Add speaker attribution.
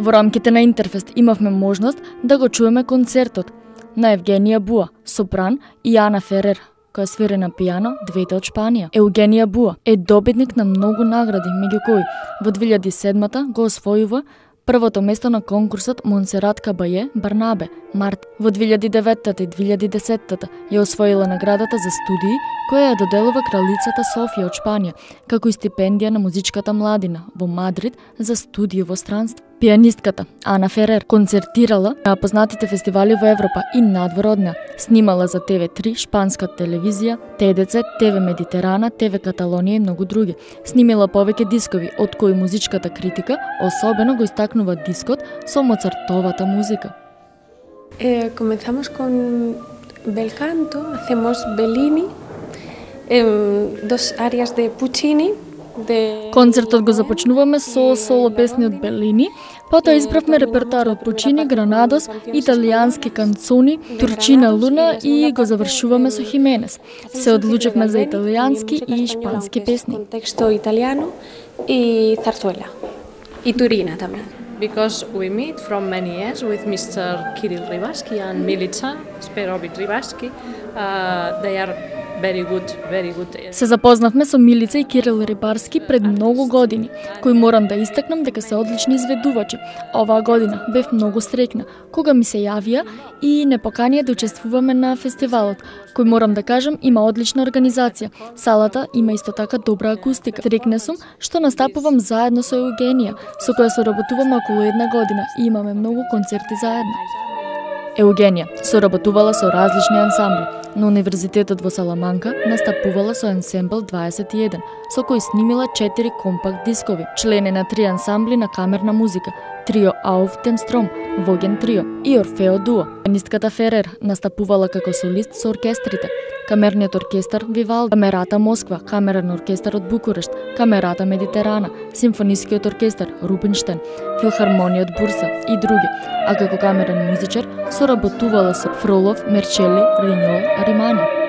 Speaker 1: Во рамките на Интерфест имавме можност да го чуеме концертот на Евгенија Буа, сопран, и Ана Ферер, која свири на пијано, двете од Шпанија. Евгенија Буа е добитник на многу награди, меѓу кои во 2007 го освојува првото место на конкурсот Монсерат Кабаје Барнабе Март. Во 2009 и 2010 ја освоила наградата за студии која ја доделува кралицата Софија од Шпанија, како и стипендија на музичката младина во Мадрид за студии во странство. Пијанистката Ана Ферер концертирала на познатите фестивали во Европа и надвор од неа. Снимала за TV3, шпанска телевизија, ТДЦ, ТВ Медитерана, ТВ Каталонија и многу други. Снимила повеќе дискови, од кои музичката критика особено го истакнува дискот со Моцартовата музика.
Speaker 2: Comenzamos con bel canto, hacemos Bellini, dos arias de Puccini.
Speaker 1: Концертот го започнуваме со соло песни од Белини, потоа избравме репертоар од Пучини, Гранадос, италијански канцони, Турчина Луна и го завршуваме со Хименес. Се одлучевме за италијански и шпански песни.
Speaker 2: Contexto italiano y zarzuela. Y Turina tamén.
Speaker 3: Because we meet from many years with Mr. Kirill Ribarsky and Milica Sperovich Ribarsky. They are very good.
Speaker 1: Се запознавме со Милица и Кирил Рибарски пред многу години, кои морам да истакнам дека се одлични изведувачи. Оваа година бев многу среќна кога ми се јавија и не поканија да учествуваме на фестивалот, кој морам да кажам има одлична организација. Салата има исто така добра акустика. Среќна сум што настапувам заедно со Евгенија, со која соработуваме околу една година и имаме многу концерти заедно. Евгенија соработувала со различни ансамбли. На Универзитетот во Саламанка настапувала со ансембл 21, со кој снимила 4 компакт дискови. Член е на 3 ансамбли на камерна музика, трио Auf den Strom, Воген трио и Орфео дуо. Пијанистката Ферер настапувала како солист со оркестрите. Камерниот оркестар Вивалди, Камерата Москва, камерен оркестар од Букурешт, Камерата Медитерана, Симфонискиот оркестар Рубинштен, Филхармониот Бурса и други. А како камерен музичар соработувала со Фролов, Мерчели, Риньол, Римани.